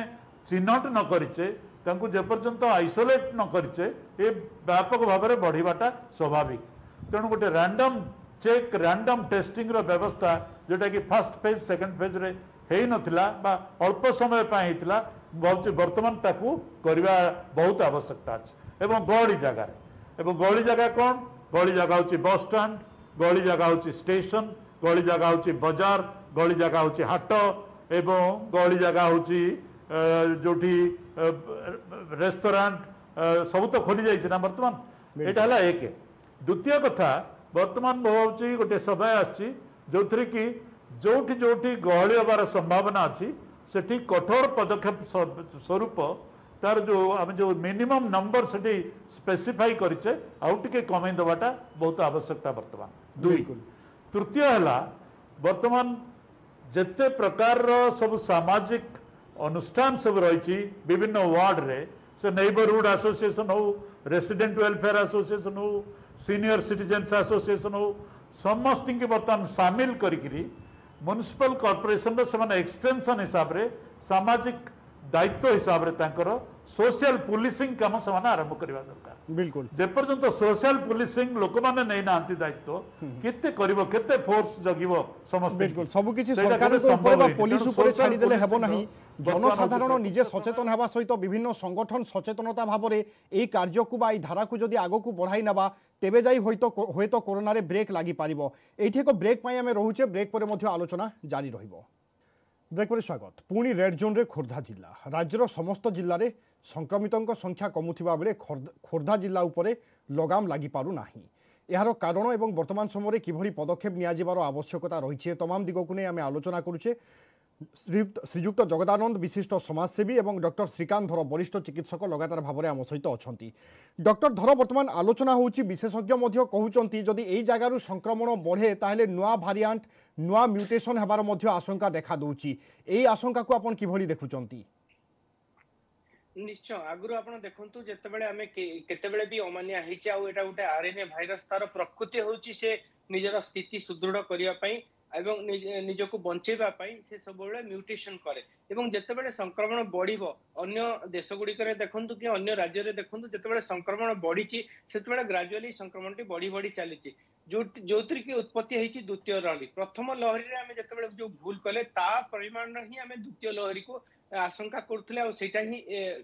ଚିହ୍ନଟ ନ କରିଛେ, ତାଙ୍କୁ ଯେପର୍ଯ୍ୟନ୍ତ ଆଇସୋଲେଟ୍ ନ କରିଛେ, ଏ ବ୍ୟାପକ ଭାବରେ ବଢ଼ିବାଟା ସ୍ୱାଭାବିକ। ତେଣୁ ଗୋଟେ ରାଣ୍ଡମ୍ ଚେକ୍, ରାଣ୍ଡମ୍ ଟେଷ୍ଟିଂର ବ୍ୟବସ୍ଥା, ଯେଉଁଟାକି ଫାର୍ଷ୍ଟ ଫେଜ୍ ସେକେଣ୍ଡ ଫେଜ୍ରେ ହେଇନଥିଲା ବା ଅଳ୍ପ ସମୟ ପାଇଁ ହେଇଥିଲା, ମୁଁ ଭାବୁଛି ବର୍ତ୍ତମାନ ତାକୁ କରିବା ବହୁତ ଆବଶ୍ୟକତା ଅଛି। ଏବଂ ଗହଳି ଜାଗାରେ, ଏବଂ ଗହଳି ଜାଗା କ'ଣ? ଗହଳି ଜାଗା ହେଉଛି ବସଷ୍ଟାଣ୍ଡ, ଗହଳି ଜାଗା ହେଉଛି ଷ୍ଟେସନ, ଗହଳି ଜାଗା ହେଉଛି ବଜାର, ଗହଳି ଜାଗା ହେଉଛି ହାଟ, ଏବଂ ଗହଳି ଜାଗା ହେଉଛି ଯେଉଁଠି ରେଷ୍ଟୁରାଣ୍ଟ ସବୁ ତ ଖୋଲି ଯାଇଛି ନା ବର୍ତ୍ତମାନ। ଏଇଟା ହେଲା ଏକ। ଦ୍ୱିତୀୟ କଥା, ବର୍ତ୍ତମାନ ମୁଁ ଭାବୁଛି ଗୋଟେ ସମୟ ଆସିଛି ଯେଉଁଥିରେ କି ଯେଉଁଠି ଯେଉଁଠି ଗହଳି ହେବାର ସମ୍ଭାବନା ଅଛି, ସେଠି କଠୋର ପଦକ୍ଷେପ ସ୍ୱରୂପ ତାର ଯେଉଁ ଆମେ ଯେଉଁ ମିନିମମ୍ ନମ୍ବର ସେଠି ସ୍ପେସିଫାଇ କରିଛେ, ଆଉ ଟିକେ କମେଇ ଦେବାଟା ବହୁତ ଆବଶ୍ୟକତା ବର୍ତ୍ତମାନ। ଦୁଇ। ତୃତୀୟ ହେଲା, ବର୍ତ୍ତମାନ ଯେତେ ପ୍ରକାରର ସବୁ ସାମାଜିକ ଅନୁଷ୍ଠାନ ସବୁ ରହିଛି ବିଭିନ୍ନ ୱାର୍ଡ଼ରେ, ସେ ନେଇବରହୁଡ଼ ଆସୋସିଏସନ୍ ହଉ, ରେସିଡେଣ୍ଟ ୱେଲଫେୟାର ଆସୋସିଏସନ୍ ହଉ, ସିନିୟର ସିଟିଜେନ୍ସ ଆସୋସିଏସନ୍ ହଉ, ସମସ୍ତଙ୍କୁ ବର୍ତ୍ତମାନ ସାମିଲ କରିକିରି ମ୍ୟୁନିସିପାଲ କର୍ପୋରେସନର ସେମାନେ ଏକ୍ସଟେନସନ୍ ହିସାବରେ, ସାମାଜିକ ଦାୟିତ୍ୱ ହିସାବରେ ତାଙ୍କର ସୋସିଆଲ ପୁଲିସିଂ କାମ ସେମାନେ ଆରମ୍ଭ କରିବା ଦରକାର। ବିଲକୁଲ। ଯେପର୍ଯ୍ୟନ୍ତ ସୋସିଆଲ ପୁଲିସିଂ ଲୋକମାନେ ନେଇନାହାନ୍ତି ଦାୟିତ୍ୱ, କେତେ କରିବ, କେତେ ଫୋର୍ସ ଜଗିବ ସମସ୍ତେ? ବିଲକୁଲ, ସବୁ କିଛି ସରକାରଙ୍କ ଉପରେ ବା ପୋଲିସ ଉପରେ ଛାଡ଼ିଦେଲେ ହେବ ନାହିଁ। ଜନସାଧାରଣ ନିଜେ ସଚେତନ ହେବା ସହିତ ବିଭିନ୍ନ ସଂଗଠନ ସଚେତନତା ଭାବରେ ଏହି କାର୍ଯ୍ୟକୁ ବା ଏହି ଧାରାକୁ ଯଦି ଆଗକୁ ବଢ଼ାଇ ନେବା, ତେବେ ଯାଇ ହୁଏତ କରୋନାରେ ବ୍ରେକ୍ ଲାଗିପାରିବ। ଏଇଠି ଏକ ବ୍ରେକ୍ ପାଇଁ ଆମେ ରହୁଛେ, ବ୍ରେକ୍ ପରେ ମଧ୍ୟ ଆଲୋଚନା ଜାରି ରହିବ। ବ୍ରେକ୍ ପରେ ସ୍ୱାଗତ। ପୁଣି ରେଡ୍ ଜୋନ୍ରେ ଖୋର୍ଦ୍ଧା ଜିଲ୍ଲା। ରାଜ୍ୟର ସମସ୍ତ ଜିଲ୍ଲାରେ ସଂକ୍ରମିତଙ୍କ ସଂଖ୍ୟା କମୁଥିବା ବେଳେ ଖୋର୍ଦ୍ଧା ଜିଲ୍ଲା ଉପରେ ଲଗାମ ଲାଗିପାରୁନାହିଁ। ଏହାର କାରଣ ଏବଂ ବର୍ତ୍ତମାନ ସମୟରେ କିଭଳି ପଦକ୍ଷେପ ନିଆଯିବାର ଆବଶ୍ୟକତା ରହିଛି, ତମାମ ଦିଗକୁ ନେଇ ଆମେ ଆଲୋଚନା କରୁଛେ। ଶ୍ରୀଯୁକ୍ତ ଜଗଦାନନ୍ଦ ବିଶିଷ୍ଟ ସମାଜସେବୀ ଏବଂ ଡକ୍ଟର ଶ୍ରୀକାନ୍ତ ଧର ବରିଷ୍ଠ ଚିକିତ୍ସକ ଲଗାତାର ଭାବରେ ଆମ ସହିତ ଅଛନ୍ତି। ଡକ୍ଟର ଧର, ବର୍ତ୍ତମାନ ଆଲୋଚନା ହେଉଛି, ବିଶେଷଜ୍ଞ ମଧ୍ୟ କହୁଛନ୍ତି ଯଦି ଏଇ ଜାଗାରୁ ସଂକ୍ରମଣ ବଢ଼େ ତାହେଲେ ନୂଆ ଭାରିଆଣ୍ଟ, ନୂଆ ମ୍ୟୁଟେସନ୍ ହେବାର ମଧ୍ୟ ଆଶଙ୍କା ଦେଖାଦେଉଛି। ଏଇ ଆଶଙ୍କାକୁ ଆପଣ କିଭଳି ଦେଖୁଛନ୍ତି? ନିଶ୍ଚୟ, ଆଗରୁ ଆପଣ ଦେଖନ୍ତୁ ଯେତେବେଳେ ଆମେ କେତେବେଳେ ବି ଅମାନିଆ ହେଇଛେ, ଆଉ ଏଇଟା ଗୋଟେ ଆରଏନଏ ଭାଇରସ, ତାର ପ୍ରକୃତି ହଉଛି ସେ ନିଜର ସ୍ଥିତି ସୁଦୃଢ କରିବା ପାଇଁ ଏବଂ ନିଜକୁ ବଞ୍ଚେଇବା ପାଇଁ ସେ ସବୁବେଳେ ମ୍ୟୁଟେସନ କରେ। ଏବଂ ଯେତେବେଳେ ସଂକ୍ରମଣ ବଢିବ, ଅନ୍ୟ ଦେଶ ଗୁଡିକରେ ଦେଖନ୍ତୁ କି ଅନ୍ୟ ରାଜ୍ୟରେ ଦେଖନ୍ତୁ, ଯେତେବେଳେ ସଂକ୍ରମଣ ବଢିଛି ସେତେବେଳେ ଗ୍ରାଜୁଆଲି ସଂକ୍ରମଣଟି ବଢି ବଢି ଚାଲିଛି। ଯୋଉଥିରେ କି ଉତ୍ପତ୍ତି ହେଇଛି ଦ୍ୱିତୀୟ ଲହରୀ। ପ୍ରଥମ ଲହରୀରେ ଆମେ ଯେତେବେଳେ ଯୋଉ ଭୁଲ କଲେ ତା ପରିମାଣର ହିଁ ଆମେ ଦ୍ୱିତୀୟ ଲହରୀକୁ ଆଶଙ୍କା କରୁଥିଲେ, ଆଉ ସେଇଟା ହିଁ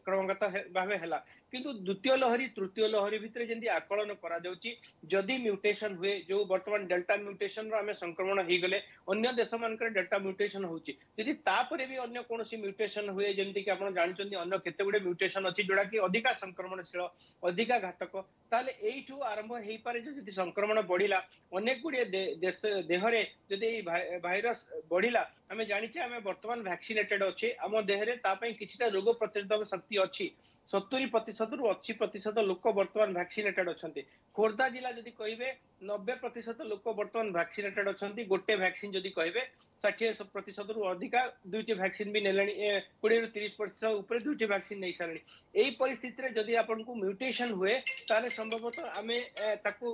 କ୍ରମାଗତ ଭାବେ ହେଲା। କିନ୍ତୁ ଦ୍ୱିତୀୟ ଲହରୀ ତୃତୀୟ ଲହରୀ ଭିତରେ ଯେମିତି ଆକଳନ କରାଯାଉଛି, ଯଦି ମ୍ୟୁଟେସନ ହୁଏ, ଯୋଉ ବର୍ତ୍ତମାନ ଡେଲ୍ଟା ମ୍ୟୁଟେସନର ଆମେ ସଂକ୍ରମଣ ହେଇଗଲେ, ଅନ୍ୟ ଦେଶମାନଙ୍କରେ ଡେଲ୍ଟା ମ୍ୟୁଟେସନ ହଉଛି, ଯଦି ତାପରେ ବି ଅନ୍ୟ କୌଣସି ମ୍ୟୁଟେସନ ହୁଏ, ଯେମିତିକି ଆପଣ ଜାଣିଛନ୍ତି ଅନ୍ୟ କେତେ ଗୁଡେ ମ୍ୟୁଟେସନ ଅଛି ଯୋଉଟା କି ଅଧିକା ସଂକ୍ରମଣଶୀଳ, ଅଧିକା ଘାତକ, ତାହେଲେ ଏଇଠୁ ଆରମ୍ଭ ହେଇପାରେ ଯେ ଯଦି ସଂକ୍ରମଣ ବଢିଲା ଅନେକ ଗୁଡିଏ ଦେଶ ଦେହରେ ଯଦି ଏଇ ଭାଇରସ ବଢିଲା, ଆମେ ଜାଣିଛେ ଆମେ ବର୍ତ୍ତମାନ ଭ୍ୟାକ୍ସିନେଟେଡ ଅଛେ, ଆମ ଦେହରେ ତା ପାଇଁ କିଛିଟା ରୋଗ ପ୍ରତିରୋଧକ ଶକ୍ତି ଅଛି। 70%ରୁ 80% ଲୋକ ବର୍ତ୍ତମାନ ଭ୍ୟାକ୍ସିନେଟେଡ ଅଛନ୍ତି। ଖୋର୍ଦ୍ଧା ଜିଲ୍ଲା ଯଦି କହିବେ 90% ଲୋକ ବର୍ତ୍ତମାନ ଭ୍ୟାକ୍ସିନେଟେଡ ଅଛନ୍ତି। ଗୋଟେ ଭ୍ୟାକ୍ସିନ ଯଦି କହିବେ 60%ରୁ ଅଧିକା ଦୁଇଟି ଭ୍ୟାକ୍ସିନ ବି ନେଲେଣି, 20ରୁ 30% ଉପରେ ଦୁଇଟି ଭ୍ୟାକ୍ସିନ ନେଇ ସାରିଲେଣି। ଏଇ ପରିସ୍ଥିତିରେ ଯଦି ଆପଣଙ୍କୁ ମ୍ୟୁଟେସନ ହୁଏ, ତାହେଲେ ସମ୍ଭବତଃ ଆମେ ତାକୁ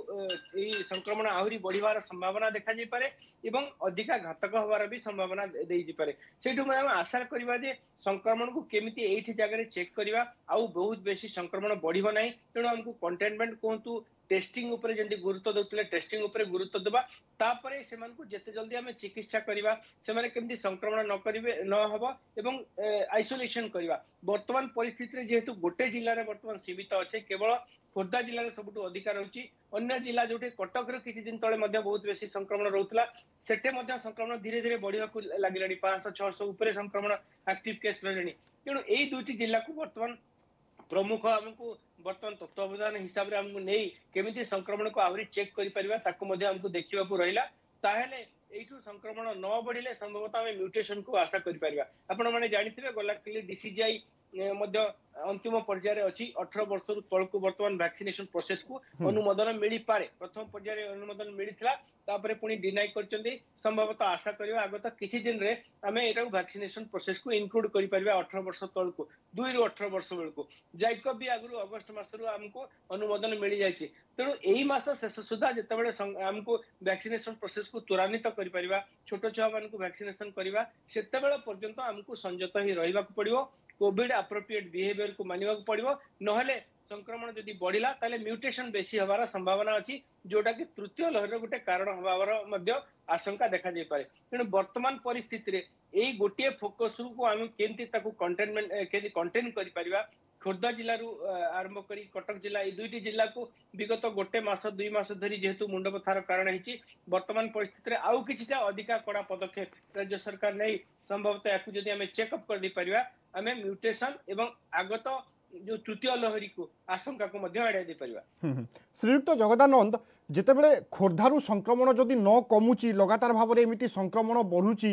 ଏଇ ସଂକ୍ରମଣ ଆହୁରି ବଢିବାର ସମ୍ଭାବନା ଦେଖାଯାଇପାରେ ଏବଂ ଅଧିକା ଘାତକ ହବାର ବି ସମ୍ଭାବନା ଦେଇପାରେ। ସେଇଠୁ ଆମେ ଆଶା କରିବା ଯେ ସଂକ୍ରମଣକୁ କେମିତି ଏଇଠି ଜାଗାରେ ଚେକ୍ କରିବା, ଆଉ ବହୁତ ବେଶୀ ସଂକ୍ରମଣ ବଢିବ ନାହିଁ। ତେଣୁ ଆମକୁ କଣ୍ଟେନମେଣ୍ଟ କୁହନ୍ତୁ, ଟେଷ୍ଟିଂ ଉପରେ ଯେମିତି ଗୁରୁତ୍ୱ ଦଉଥିଲେ ଟେଷ୍ଟିଂ ଉପରେ ଗୁରୁତ୍ୱ ଦେବା, ତାପରେ ସେମାନଙ୍କୁ ଯେତେ ଜଲ୍ଦି ଆମେ ଚିକିତ୍ସା କରିବା, ସେମାନେ କେମିତି ସଂକ୍ରମଣ ନ କରିବେ ନ ହବ, ଏବଂ ଆଇସୋଲେସନ କରିବା। ବର୍ତ୍ତମାନ ପରିସ୍ଥିତିରେ ଯେହେତୁ ଗୋଟେ ଜିଲ୍ଲାରେ ବର୍ତ୍ତମାନ ସୀମିତ ଅଛେ, କେବଳ ଖୋର୍ଦ୍ଧା ଜିଲ୍ଲାରେ ସବୁଠୁ ଅଧିକା ରହୁଛି। ଅନ୍ୟ ଜିଲ୍ଲା ଯୋଉଠି କଟକର କିଛି ଦିନ ତଳେ ମଧ୍ୟ ବହୁତ ବେଶୀ ସଂକ୍ରମଣ ରହୁଥିଲା, ସେଠି ମଧ୍ୟ ସଂକ୍ରମଣ ଧୀରେ ଧୀରେ ବଢିବାକୁ ଲାଗିଲାଣି, 500-600 ଉପରେ ସଂକ୍ରମଣ ଆକ୍ଟିଭ କେସ୍ ରହିଲେଣି। ତେଣୁ ଏଇ ଦୁଇଟି ଜିଲ୍ଲାକୁ ବର୍ତ୍ତମାନ ପ୍ରମୁଖ ଆମକୁ ବର୍ତ୍ତମାନ ତତ୍ତ୍ୱାବଧାନ ହିସାବରେ ଆମକୁ ନେଇ କେମିତି ସଂକ୍ରମଣକୁ ଆହୁରି ଚେକ୍ କରିପାରିବା ତାକୁ ମଧ୍ୟ ଆମକୁ ଦେଖିବାକୁ ରହିଲା। ତାହେଲେ ଏଇଠୁ ସଂକ୍ରମଣ ନ ବଢିଲେ ସମ୍ଭବତଃ ଆମେ ମ୍ୟୁଟେସନକୁ ଆଶା କରିପାରିବା। ଆପଣମାନେ ଜାଣିଥିବେ ଗଲା କାଲି ଡିସିଜିଆଇ ମଧ୍ୟ ଅନ୍ତିମ ପର୍ଯ୍ୟାୟରେ ଅଛି, 18 ବର୍ଷରୁ ତଳକୁ ବର୍ତ୍ତମାନ ଭ୍ୟାକ୍ସିନେସନ ପ୍ରୋସେସକୁ ଅନୁମୋଦନ ମିଳିପାରେ। ପ୍ରଥମ ପର୍ଯ୍ୟାୟରେ ଅନୁମୋଦନ ମିଳିଥିଲା, ତାପରେ ପୁଣି ଡିନାଇ କରିଛନ୍ତି। ସମ୍ଭବତଃ ଆଶା କରିବା ଆଗତ କିଛି ଦିନରେ ଆମେ ଏଇଟାକୁ ଭ୍ୟାକ୍ସିନେସନ ପ୍ରୋସେସକୁ ଇନକ୍ଲୁଡ କରିପାରିବା 18 ବର୍ଷ ତଳକୁ, 2ରୁ 18 ବର୍ଷ ବେଳକୁ। ଜାଇକବ ବି ଆଗରୁ ଅଗଷ୍ଟ ମାସରୁ ଆମକୁ ଅନୁମୋଦନ ମିଳିଯାଇଛି। ତେଣୁ ଏଇ ମାସ ଶେଷ ସୁଦ୍ଧା ଯେତେବେଳେ ଆମକୁ ଭ୍ୟାକ୍ସିନେସନ ପ୍ରୋସେସକୁ ତ୍ୱରାନ୍ୱିତ କରିପାରିବା, ଛୋଟ ଛୁଆମାନଙ୍କୁ ଭ୍ୟାକ୍ସିନେସନ କରିବା, ସେତେବେଳେ ପର୍ଯ୍ୟନ୍ତ ଆମକୁ ସଂଯତ ହେଇ ରହିବାକୁ ପଡିବ, କୋଭିଡ ଆପ୍ରୋପ୍ରିଏଟ ବିହେଭିୟରକୁ ମାନିବାକୁ ପଡିବ। ନହେଲେ ସଂକ୍ରମଣ ଯଦି ବଢିଲା ତାହେଲେ ମ୍ୟୁଟେସନ ବେଶୀ ହବାର ସମ୍ଭାବନା ଅଛି, ଯୋଉଟା କି ତୃତୀୟ ଲହରୀର ଗୋଟେ କାରଣ ହବାର ମଧ୍ୟ ଆଶଙ୍କା ଦେଖାଯାଇପାରେ। ତେଣୁ ବର୍ତ୍ତମାନ ପରିସ୍ଥିତିରେ ଏଇ ଗୋଟିଏ ଫୋକସକୁ ଆମେ କେମିତି ତାକୁ କଣ୍ଟେନମେଣ୍ଟ କେମିତି କଣ୍ଟେନ କରିପାରିବା, ଖୋର୍ଦ୍ଧା ଜିଲ୍ଲାରୁ ଆରମ୍ଭ କରି କଟକ ଜିଲ୍ଲା, ଏଇ ଦୁଇଟି ଜିଲ୍ଲାକୁ ବିଗତ ଗୋଟେ ମାସ 2 ମାସ ଧରି ଯେହେତୁ ମୁଣ୍ଡବଥାର କାରଣ ହେଇଛି, ବର୍ତ୍ତମାନ ପରିସ୍ଥିତିରେ ଆଉ କିଛିଟା ଅଧିକା କଡା ପଦକ୍ଷେପ ରାଜ୍ୟ ସରକାର ନେଇ ସମ୍ଭବତଃ ୟାକୁ ଯଦି ଆମେ ଚେକଅପ୍ କରିଦେଇପାରିବା, ଆମେ ମ୍ୟୁଟେସନ ଏବଂ ଆଗତ ଯୋଉ ତୃତୀୟ ଲହରୀକୁ ଆଶଙ୍କାକୁ ମଧ୍ୟ ଏଡ଼ାଇ ଦେଇପାରିବା। ଶ୍ରୀଯୁକ୍ତ ଜଗଦାନନ୍ଦ, ଯେତେବେଳେ ଖୋର୍ଦ୍ଧାରୁ ସଂକ୍ରମଣ ଯଦି ନ କମୁଛି, ଲଗାତାର ଭାବରେ ଏମିତି ସଂକ୍ରମଣ ବଢୁଛି,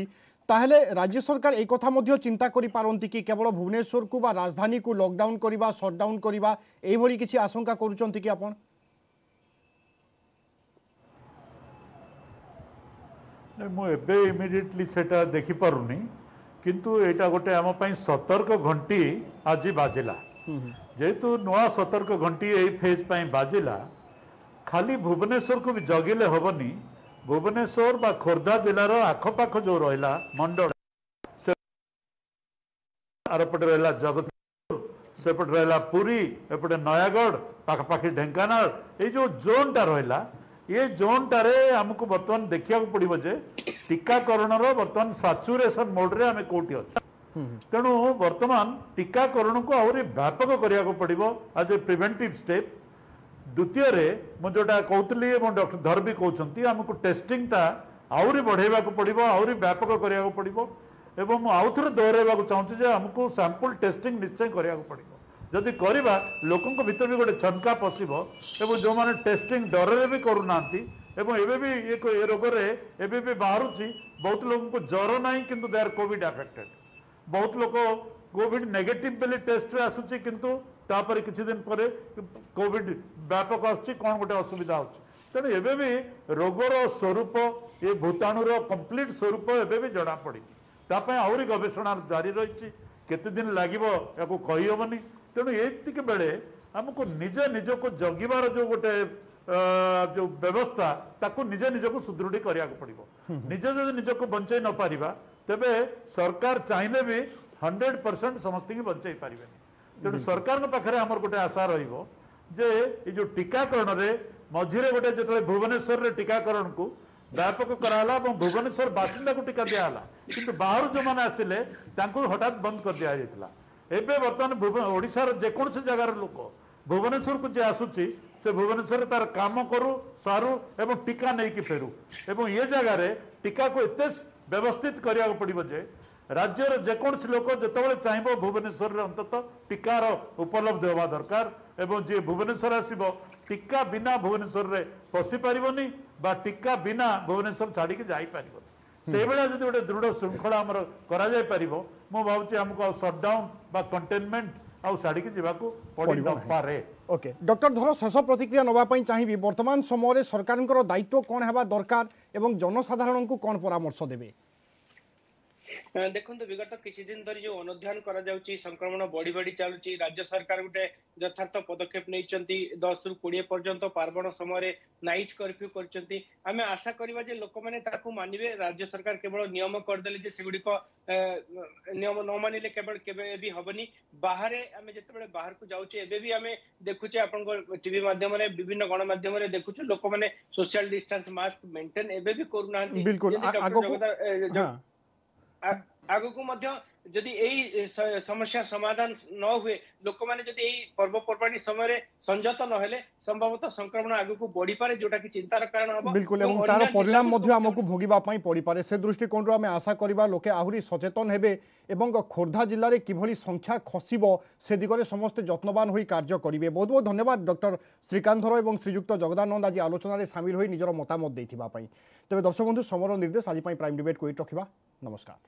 ତାହେଲେ ରାଜ୍ୟ ସରକାର এই কথা ମଧ୍ୟ ଚିନ୍ତା କରିପାରନ୍ତି କି କେବଳ ଭୁବନେଶ୍ୱରକୁ ବା ରାଜଧାନୀକୁ ଲକଡାଉନ କରିବା, ସଟଡାଉନ କରିବା, ଏଇଭଳି କିଛି ଆଶଙ୍କା କରୁଛନ୍ତି କି ଆପଣ? ମୁଁ ଏବେ ଇମିଡ଼ିଏଟଲି ସେଟା ଦେଖିପାରୁନି, କିନ୍ତୁ ଏଇଟା ଗୋଟେ ଆମ ପାଇଁ ସତର୍କ ଘଣ୍ଟି ଆଜି ବାଜିଲା। ଯେହେତୁ ନୂଆ ସତର୍କ ଘଣ୍ଟି ଏଇ ଫେଜ୍ ପାଇଁ ବାଜିଲା, ଖାଲି ଭୁବନେଶ୍ୱରକୁ ବି ଜଗିଲେ ହେବନି। ଭୁବନେଶ୍ୱର ବା ଖୋର୍ଦ୍ଧା ଜିଲ୍ଲାର ଆଖପାଖ ଯେଉଁ ରହିଲା ମଣ୍ଡଳ, ସେ ଆରପଟେ ରହିଲା ଜଗତସିଂହପୁର, ସେପଟେ ରହିଲା ପୁରୀ, ଏପଟେ ନୟାଗଡ଼, ପାଖାପାଖି ଢେଙ୍କାନାଳ, ଏଇ ଯେଉଁ ଜୋନ୍ଟା ରହିଲା, ଏ ଜୋନ୍ଟାରେ ଆମକୁ ବର୍ତ୍ତମାନ ଦେଖିବାକୁ ପଡ଼ିବ ଯେ ଟୀକାକରଣର ବର୍ତ୍ତମାନ ସାଚୁରେସନ୍ ମୋଡ଼ରେ ଆମେ କେଉଁଠି ଅଛୁ। ତେଣୁ ବର୍ତ୍ତମାନ ଟୀକାକରଣକୁ ଆହୁରି ବ୍ୟାପକ କରିବାକୁ ପଡ଼ିବ ଆଜ୍ ଏ ପ୍ରିଭେଣ୍ଟିଭ୍ ଷ୍ଟେପ୍। ଦ୍ୱିତୀୟରେ ମୁଁ ଯେଉଁଟା କହୁଥିଲି ଏବଂ ଡକ୍ଟର ଧର ବି କହୁଛନ୍ତି, ଆମକୁ ଟେଷ୍ଟିଂଟା ଆହୁରି ବଢ଼େଇବାକୁ ପଡ଼ିବ, ଆହୁରି ବ୍ୟାପକ କରିବାକୁ ପଡ଼ିବ। ଏବଂ ମୁଁ ଆଉ ଥରେ ଦୋହରାଇବାକୁ ଚାହୁଁଛି ଯେ ଆମକୁ ସାମ୍ପୁଲ୍ ଟେଷ୍ଟିଂ ନିଶ୍ଚୟ କରିବାକୁ ପଡ଼ିବ। ଯଦି କରିବା, ଲୋକଙ୍କ ଭିତରେ ବି ଗୋଟେ ଛନକା ପଶିବ ଏବଂ ଯେଉଁମାନେ ଟେଷ୍ଟିଂ ଡରରେ ବି କରୁନାହାନ୍ତି, ଏବଂ ଏବେ ବି ଏ ରୋଗରେ ଏବେ ବି ବାହାରୁଛି ବହୁତ ଲୋକଙ୍କୁ ଜ୍ୱର ନାହିଁ କିନ୍ତୁ ଦେ ଆର୍ କୋଭିଡ୍ ଆଫେକ୍ଟେଡ୍। ବହୁତ ଲୋକ କୋଭିଡ୍ ନେଗେଟିଭ୍ ବୋଲି ଟେଷ୍ଟରେ ଆସୁଛି, କିନ୍ତୁ ତାପରେ କିଛି ଦିନ ପରେ କୋଭିଡ୍ ବ୍ୟାପକ ଆସୁଛି, କ'ଣ ଗୋଟେ ଅସୁବିଧା ହେଉଛି। ତେଣୁ ଏବେ ବି ରୋଗର ସ୍ୱରୂପ, ଏ ଭୂତାଣୁର କମ୍ପ୍ଲିଟ୍ ସ୍ୱରୂପ ଏବେ ବି ଜଣାପଡ଼ିନି। ତା ପାଇଁ ଆହୁରି ଗବେଷଣା ଜାରି ରହିଛି, କେତେ ଦିନ ଲାଗିବ ୟାକୁ କହିହେବନି। ତେଣୁ ଏତିକି ବେଳେ ଆମକୁ ନିଜେ ନିଜକୁ ଜଗିବାର ଯେଉଁ ଗୋଟେ ଯେଉଁ ବ୍ୟବସ୍ଥା, ତାକୁ ନିଜେ ନିଜକୁ ସୁଦୃଢ଼ କରିବାକୁ ପଡ଼ିବ। ନିଜେ ଯଦି ନିଜକୁ ବଞ୍ଚେଇ ନପାରିବା, ତେବେ ସରକାର ଚାହିଁଲେ ବି 100% ସମସ୍ତଙ୍କୁ ବଞ୍ଚେଇ ପାରିବେନି। ତେଣୁ ସରକାରଙ୍କ ପାଖରେ ଆମର ଗୋଟେ ଆଶା ରହିବ ଯେ ଏଇ ଯେଉଁ ଟୀକାକରଣରେ ମଝିରେ ଗୋଟେ ଯେତେବେଳେ ଭୁବନେଶ୍ୱରରେ ଟିକାକରଣକୁ ବ୍ୟାପକ କରାହେଲା ଏବଂ ଭୁବନେଶ୍ୱର ବାସିନ୍ଦାକୁ ଟୀକା ଦିଆହେଲା, କିନ୍ତୁ ବାହାରୁ ଯେଉଁମାନେ ଆସିଲେ ତାଙ୍କୁ ହଠାତ୍ ବନ୍ଦ କରିଦିଆଯାଇଥିଲା। ଏବେ ବର୍ତ୍ତମାନ ଓଡ଼ିଶାର ଯେକୌଣସି ଜାଗାର ଲୋକ ଭୁବନେଶ୍ୱରକୁ ଯିଏ ଆସୁଛି ସେ ଭୁବନେଶ୍ୱରରେ ତାର କାମ କରୁ ସାରୁ ଏବଂ ଟୀକା ନେଇକି ଫେରୁ। ଏବଂ ଏ ଜାଗାରେ ଟୀକାକୁ ଏତେ ବ୍ୟବସ୍ଥିତ କରିବାକୁ ପଡ଼ିବ ଯେ ରାଜ୍ୟର ଯେକୌଣସି ଲୋକ ଯେତେବେଳେ ଚାହିଁବ ଭୁବନେଶ୍ୱରରେ ଅନ୍ତତଃ ଟୀକାର ଉପଲବ୍ଧ ହେବା ଦରକାର ଏବଂ ଯିଏ ଭୁବନେଶ୍ୱର ଆସିବ ଟୀକା ବିନା ଭୁବନେଶ୍ୱରରେ ପଶିପାରିବନି ବା ଟୀକା ବିନା ଭୁବନେଶ୍ୱର ଛାଡ଼ିକି ଯାଇପାରିବନି। ସେଇଭଳିଆ ଯଦି ଗୋଟେ ଦୃଢ଼ ଶୃଙ୍ଖଳା ଆମର କରାଯାଇପାରିବ, ମୁଁ ଭାବୁଛି ଆମକୁ ଆଉ ସଟ୍ଡାଉନ୍ ବା କଣ୍ଟେନମେଣ୍ଟ ଆଉ ଛାଡ଼ିକି ଯିବାକୁ ପଡ଼ି ନପାରେ। ଓକେ ଡକ୍ଟର ଧର, ଶେଷ ପ୍ରତିକ୍ରିୟା ନେବା ପାଇଁ ଚାହିଁବି, ବର୍ତ୍ତମାନ ସମୟରେ ସରକାରଙ୍କର ଦାୟିତ୍ୱ କ'ଣ ହେବା ଦରକାର ଏବଂ ଜନସାଧାରଣଙ୍କୁ କ'ଣ ପରାମର୍ଶ ଦେବେ? ଦେଖନ୍ତୁ, ବିଗତ କିଛି ଦିନ ଧରି ଯୋଉ ଅନୁଧ୍ୟାନ କରାଯାଉଛି ସଂକ୍ରମଣ ବଢି ବଢି ଚାଲୁଛି। ରାଜ୍ୟ ସରକାର ଗୋଟେ ଯଥାର୍ଥ ପଦକ୍ଷେପ ନେଇଛନ୍ତି, 10ରୁ 20 ପର୍ଯ୍ୟନ୍ତ ପାର୍ବଣ ସମୟରେ ନାଇଟ୍ କର୍ଫ୍ୟୁ କରିଛନ୍ତି। ଆମେ ଆଶା କରିବା ଯେ ଲୋକମାନେ ତାକୁ ମାନିବେ। ରାଜ୍ୟ ସରକାର କେବଳ ନିୟମ କରିଦେଲେ ଯେ ସେଗୁଡିକ ନିୟମ ନ ମାନିଲେ କେବଳ କେବେ ବି ହବନି। ବାହାରେ ଆମେ ଯେତେବେଳେ ବାହାରକୁ ଯାଉଛେ, ଏବେ ବି ଆମେ ଦେଖୁଛେ ଆପଣଙ୍କ ଟିଭି ମାଧ୍ୟମରେ, ବିଭିନ୍ନ ଗଣମାଧ୍ୟମରେ ଦେଖୁଛୁ ଲୋକମାନେ ସୋସିଆଲ ଡିଷ୍ଟାନ୍ସ, ମାସ୍କ ମେଣ୍ଟେନ ଏବେ ବି କରୁନାହାନ୍ତି। ଆଗକୁ ମଧ୍ୟ ଯଦି ଏଇ ସମସ୍ୟା ସମାଧାନ ନ ହୁଏ, ଲୋକମାନେ ଯଦି ଏଇ ପର୍ବପର୍ବାଣୀ ସମୟରେ ସଂଯତ ନହେଲେ ସମ୍ଭବତଃ ସଂକ୍ରମଣ ଆଗକୁ ବଢିପାରେ, ଯୋଉଟା କି ଚିନ୍ତାର କାରଣ ହବ। ବିଲକୁଲ, ଏବଂ ତାର ପରିଣାମ ମଧ୍ୟ ଆମକୁ ଭୋଗିବା ପାଇଁ ପଡ଼ିପାରେ। ସେ ଦୃଷ୍ଟିକୋଣରୁ ଆମେ ଆଶା କରିବା ଲୋକେ ଆହୁରି ସଚେତନ ହେବେ ଏବଂ ଖୋର୍ଦ୍ଧା ଜିଲ୍ଲାରେ କିଭଳି ସଂଖ୍ୟା ଖସିବ ସେ ଦିଗରେ ସମସ୍ତେ ଯତ୍ନବାନ ହୋଇ କାର୍ଯ୍ୟ କରିବେ। ବହୁତ ବହୁତ ଧନ୍ୟବାଦ ଡକ୍ଟର ଶ୍ରୀକାନ୍ତ ଧର ଏବଂ ଶ୍ରୀଯୁକ୍ତ ଜଗଦାନନ୍ଦ ଆଜି ଆଲୋଚନାରେ ସାମିଲ ହୋଇ ନିଜର ମତାମତ ଦେଇଥିବା ପାଇଁ। ତେବେ ଦର୍ଶକ ବନ୍ଧୁ, ସମର ନିର୍ଦ୍ଦେଶ ଆଜି ପାଇଁ ପ୍ରାଇମ୍ ଡିବେଟ୍କୁ ଏଇଠି ରଖିବା। ନମସ୍କାର।